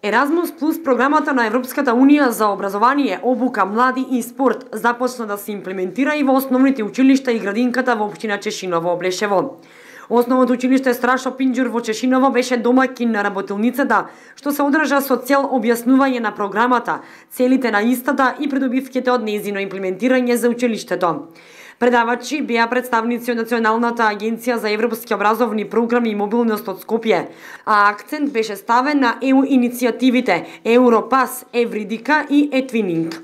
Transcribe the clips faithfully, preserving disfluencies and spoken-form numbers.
Еразмус плюс програмата на Европската унија за образование, обука, млади и спорт започна да се имплементира и во основните училишта и градинката во општина Чешиново, Блешево. Основното училиште Страшо Пинџур во Чешиново беше домаќин на работилницата, што се одржа со цел објаснување на програмата, целите на истата и придобивките од нејзино имплементирање за училиштето. Предавачи беа представници од Националната агенција за европски образовни програми и мобилност од Скопје, а акцент беше ставен на е у иницијативите Европас, Евридика и Етвининг.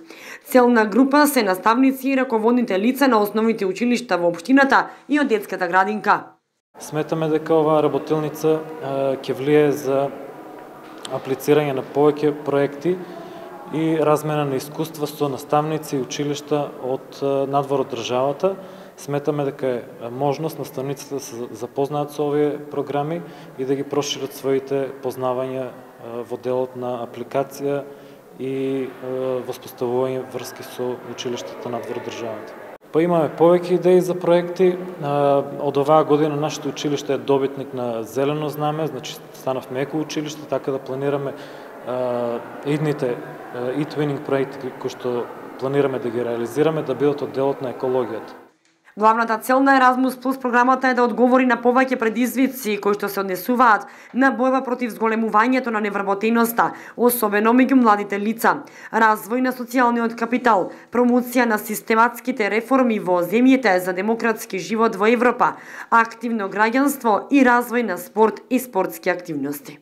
Целна група се наставници и раководните лица на основните училишта во општината и од детската градинка. Сметаме дека оваа работилница ќе влие за аплицирање на повеќе проекти и размена на искуства со наставници и училишта од надвор од државата. Сметаме дека е можност наставниците да се запознаат со овие програми и да ги прошират своите познавања во делот на апликација и воспоставување врски со училиштата надвор од државата. Па имаме повеќе идеи за проекти. Од оваа година нашето училиште е добитник на зелено знаме, значи станавме еко училиште, така да планираме идните e-twinning проекти кои што планираме да ги реализираме да бидат од делот на екологијата. Главната цел на Еразмус плюс програмата е да одговори на повеќе предизвици кои што се однесуваат на бојба против зголемувањето на невработеноста, особено меѓу младите лица, развој на социјалниот капитал, промоција на систематските реформи во земјите за демократски живот во Европа, активно граѓанство и развој на спорт и спортски активности.